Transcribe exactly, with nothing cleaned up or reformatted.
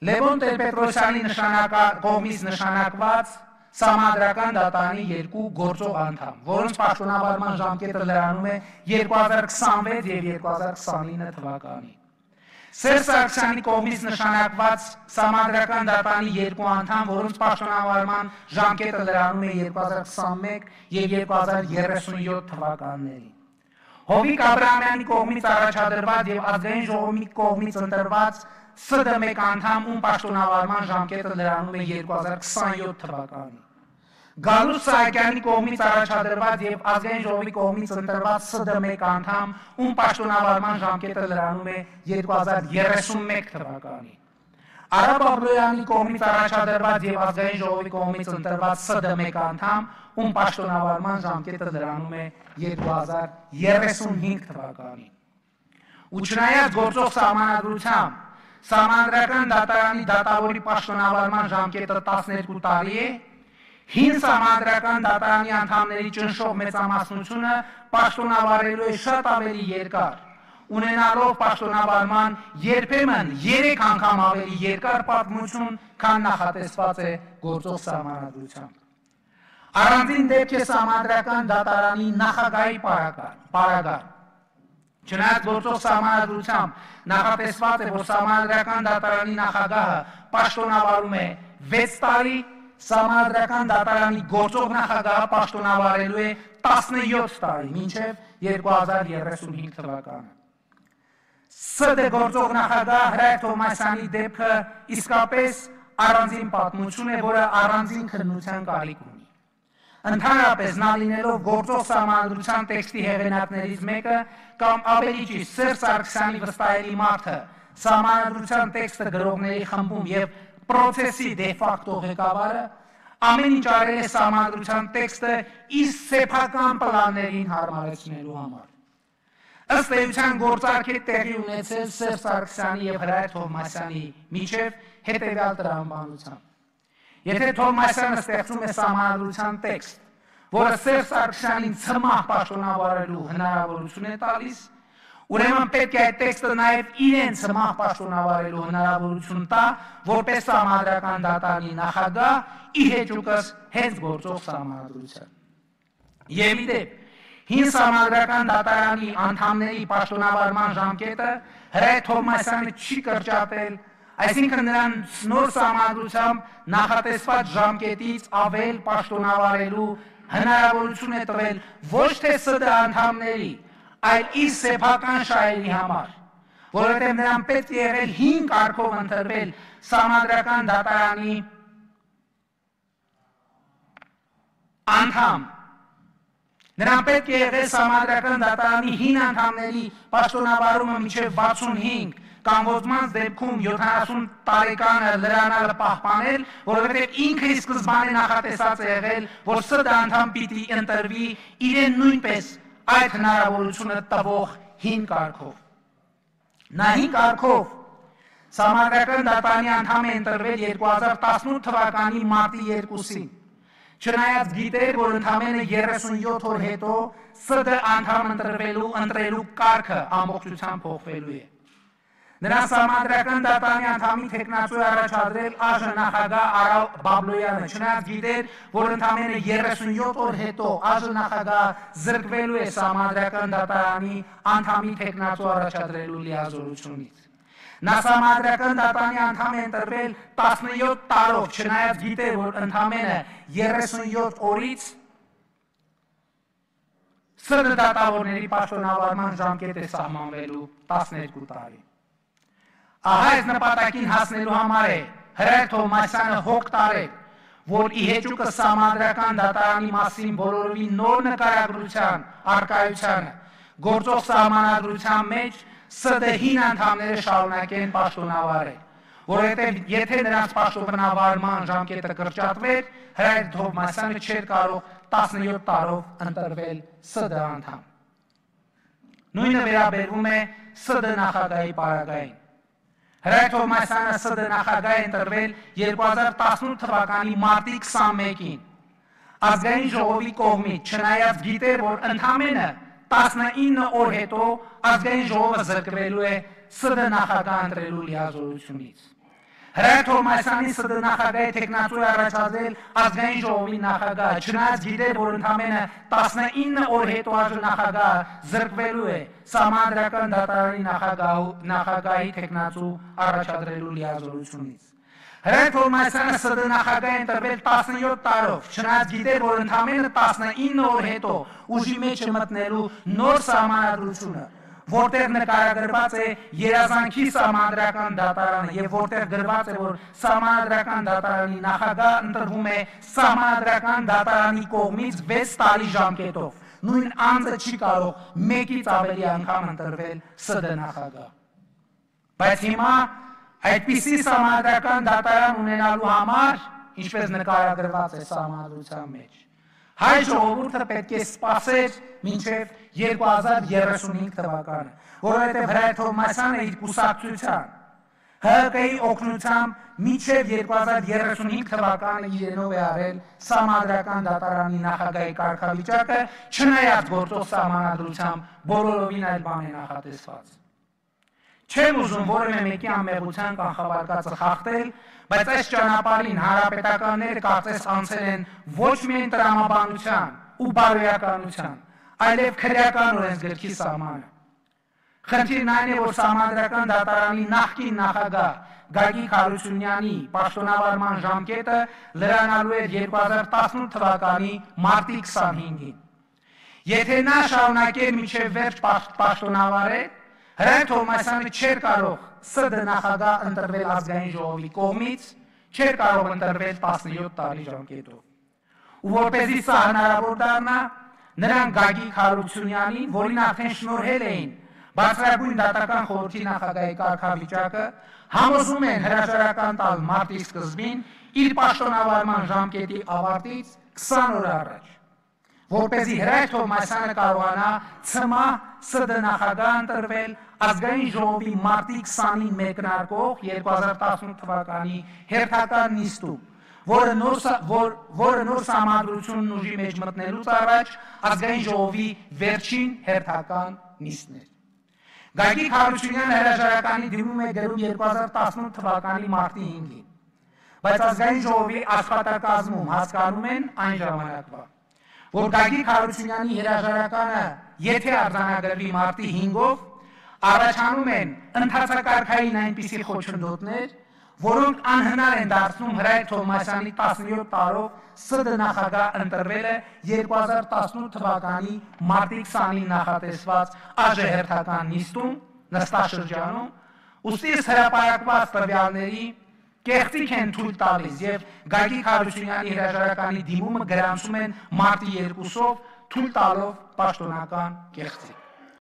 Լևոն Տեր-Պետրոսյանի կողմից նշանակված Սահմանադրական դատարանի երկու գործող անդամ, որոնց պաշտոնավարման ժամկետը լրանում է երկու հազար քսանվեց և երկու հազար քսանինը թվականին։ Սերժ Սարգսյանի կողմից նշանակված Սահմանադրական դատարանի երկու անդամ, որոնց պաշտոնավարման ժամկետը լրանում է երկու հազար քսանմեկ և երկու հազար երեսունյոթ թվականներին։ Հովիկ Աբրահամյանի կողմից առաջադրված և ազգային ժողովի կողմից ընտրված Ս Դ մեկ անդամ, ում պաշտոնավարման ժամկետը լրանում է երկու հազար քսանյոթ թվականին։ Գալուստ Սահակյանի կողմից առաջադրված և ազգային ժողովի կողմից ընտրված Ս Դ մեկ անդամ, ում պաշտոնավարման ժամկետը լրանում է երկու հազար երեսունմեկ թվականին։ Արա Բաբլոյանի կողմից առաջադրված և ազգային ժողովի կողմից ընտրված Ս Դ մեկ անդամ, ում պաշտոնավարման ժամկետը լրանում է երկու հազար երեսունհինգ թվականին։ Ու չնայած գործող սահմանադրությամբ Սահմանադրական դատարանի դատավորի պաշտոնավարման ժամկետը տասներկու տարի է, հին Սահմանադրական դատարանի անդամների ճնշող մեծամասնությունը պաշտոնավարելու է շատ ավելի երկար, ունենալով պաշտոնավարման երբեմն երեք անգամ ավելի երկար պատմություն, քան նախատեսված է գործող սահմանադրությամբ։ Առանձին դեպք է Սահմանադրական դատարանի նախագահի պարագան։ Չնայած գործող սահմանադրությամբ նախատեսված է, որ Սահմանադրական դատարանի նախագահը պաշտոնավարում է վեց տարի, Սահմանադրական դատարանի գործող նախագահը պաշտոնավարելու է տասնյոթ տարի, մինչև երկու հազար երեսունհինգ թվականը։ Ս Դ գործող նախագահ Հրայր Թովմասյանի դեպքը իսկապես առանձին պատմություն է, որը առանձին քննության կարիք ունի։ Ընդհանրապես նա լինելով գործող սահմանադրության տեքստի հեղինակներից մեկը կամ ավելի ճիշտ Սերժ Սարգսյանի վստահելի մարդը սահմանադրության տեքստը գրողների խմբում և պրոցեսի դե ֆակտո ղեկավարը ամեն ինչ արել է սահմանադրության տեքստը իր սեփական պլաններին հարմարեցնելու համար։ Ըստ էության գործարք է տեղի ունեցել Սերժ Սարգսյանի և Հրայր Թովմասյանի միջև հետևյալ տրամաբանությամբ։ Եթե Թովմասյանը ստեղծում է սահմանադրության տեքստ, որը Սերժ Սարգսյանին ցմահ պաշտոնավարելու հնարավորություն է տալիս, ուրեմն պետք է այդ տեքստը նաև իրեն ցմահ պաշտոնավարելու հնարավորություն տա, որպես Սահմանադրական դատարանի նախագահ ի հեճուկս հենց գործող սահմանադրության։ Եվ ի դեպ, հին Սահմանադրական դատարանի անդամների պաշտոնավարման ժամկետը Հրայր Թովմասյանը չի կրճատել, այսինքն նրան նոր սահմանադրությամբ նախատեսված ժամկետից ավել պաշտոնավարելու հնարավորություն է տվել ոչ թե Ս Դ անդամների, այլ իր սեփական շահերի համար, որովհետև նրան պետք է եղել հին կարգով ընտրվել Սահմանադրական դատարանի անդամ։ Նրան պետք է եղել Սահմանադրական դատարանի հին անդամների պաշտոնավարումը մինչև վաթսունհինգ կամ ոզմանց դեպքում յոթանասուն տարեկանը լրանալը պահպանել, որովհետև ինքը ի սկզբանե նախատեսած է եղել, որ Ս Դ անդամ պիտի ընտրվի իրեն նույնպես այդ հնարավորությունը տվող հին կարգով։ Նա հին կարգով Սահմանադրական դատարանի անդամ է ընտրվել երկու հազար տասնութ թվականի մարտի երկուսին, չնայած գիտեր, որ ընդամենը երեսունյոթ օր հետո Ս Դ անդամ ընտրվելու ընտրելու կարգը ամբողջությամբ փոխվելու է։ Նրան Սահմանադրական դատարանի անդամի թեկնածու է առաջադրել ԱԺ նախագահ Արա Բաբլոյանը, չնայած գիտեր, որ ընդամենը երեսունյոթ օր հետո ԱԺ նախագահ զրկվելու է Սահմանադրական դատարանի անդամի թեկնածու առաջադրելու լիազորությունից։ Նա Սահմանադրական դատարանի անդամ է ընտրվել տասնյոթ տարով, չնայած գիտեր, որ ընդամենը երեսունյոթ օրից Ս Դ դատավորների պաշտոնավարման ժամկետ է սահմանվելու տասներկու տարի։ Ահա այս նպատակին հասնելու համար է Հրայր Թովմասյանը հոգ տարել, որ ի հեճուկս Սահմանադրական դատարանի մասին բոլորովին նոր նկարագրության առկայությանը գործող սահմանադրության մեջ Ս Դ հին անդամները շարունակեն պաշտոնավարել, որովհետև եթե նրանց պաշտոնավարման ժամկետը կրճատվեր, Հրայր Թովմասյանը չէր կարող տասնյոթ տարով ընտրվել Ս Դ անդամ։ Նույնը վերաբերվում է Ս Դ նախագահի պարագային։ Հրայր Թովմասյանը Ս Դ նախագահ է ընտրվել երկու հազար տասնութ թվականի մարտի քսանմեկին։ Ազգային ժողովի կողմից, չնայած գիտեր, որ ընդամենը տասնինը օր հետո ազգային ժողովը զրկվելու է Ս Դ նախագահ ընտրելու լիազորությունից։ Հրայր Թովմասյանի ՍԴ նախագահի թեկնածուի առաջադրել ազգային ժողովի նախագահ, չնայած գիտեր, որ ընդամենը տասնինը օր հետո այժմ նախագահ զրկվելու է Սահմանադրական դատարանի նախագահի թեկնածու առաջադրելու լիազորությունից։ Հրայր Թովմասյանը ՍԴ նախագահ է ընտրվել տասնյոթ տարով, չնայած գիտեր, որ ընդամենը տասնինը օր հետո ուժի մեջ է մտնելու նոր սահմանադրությունը, որտեղ նկարագրված է երազանքի Սահմանադրական դատարանը եւ որտեղ գրված է, որ Սահմանադրական դատարանի նախագահ ընտրվում է Սահմանադրական դատարանի կողմից վեց տարի ժամկետով։ Նույն անձը չի կարող մեկից ավելի անգամ ընտրվել ՍԴ նախագահ։ Բայց հիմա այդպիսի Սահմանադրական դատարան ունենալու համար, ինչպես նկարագրված է Սահմանադրության մեջ, հայ ժողովուրդը պետք է սպասեր մինչև երկու հազար երեսունհինգ թվականը, որովհետև Հրայր Թովմասյանը իր կուսակցության Հ Կ-ի օգնությամբ մինչև երկու հազար երեսունհինգ թվականը իրենով է արել Սահմանադրական դատարանի նախագահի կարգավիճակը, չնայած գործող Սահմանադրությամբ բոլորովին այլ բան է նախատեսված։ Չեմ ուզում որևէ մեկի անմեղության կանխավարկածը խախտել, բայց այս ճանապարհին հանրապետականները կարծես անցել են ոչ միայն տրամաբանության ու բարոյականության, այլև քրեական օրենսգրքի սահմանը։ Խնդիրն այն է, որ Սահմանադրական դատարանի նախկին նախագահ Գագիկ Հարությունյանի պաշտոնավարման ժամկետը լրանալու էր երկու հազար տասնութ թվականի մարտի քսանհինգին։ Եթե նա շարունակեր մինչև վերջ պաշտոնավարել, Հրայր Թովմասյանը չէր կարող ՍԴ նախագահ ընտրվել ազգային ժողովի կողմից, չէր կարող ընտրվել տասնյոթ տարի ժամկետով։ Ու որպեսզի սա հնարավոր դառնա, նրանք Գագիկ Հարությունյանին, որին արդեն շնորհել էին Բարձրագույն դատական խորհրդի նախագահի կարգավիճակը, համոզում են հրաժարական տալ մարտի սկզբին իր պաշտոնավարման ժամկետի ավարտից քսան օր առաջ, որպեսզի Հրայր Թովմասյանը կարողանա ցմահ ՍԴ նախագահ ընտրվել ազգային ժողովի մարտի քսանին մեկնարկող երկու հազար տասնութ թվականի հերթական նիստում, որը նոր, որ, որը նոր Սահմանադրությունն ուժի մեջ մտնելուց առաջ ազգային ժողովի վերջին հերթական նիստն էր։ Գագիկ Հարությունյանը հրաժարականի դիմում է գրում երկու հազար տասնութ թվականի մարտի հինգին, բայց ազգային ժողովի աշխատակազմում հասկանում են այն ժամանակվա, որ Գագիկ Հարությունյանի հրաժարականը, եթե արձանագրվի մարտի հինգով, առաջանում են ընթացակարգային այնպիսի խոչընդոտներ, որոնք անհնար են դարձնում Հրայր Թովմասյանի տասնյոթ տարով ՍԴ նախագահ ընտրվելը երկու հազար տասնութ թվականի մարտի քսանին նախատեսված ԱԺ-հերթական նիստում, նստաշրջանում, ուստի հրապարակված տվյալների կեղծիք են թույլ տալիս եւ Գագիկ Հարությունյանի հրաժարականի դիմումը գրանցում են մարտի երկուսով, թույլ տալով պաշտոնական կեղծիք։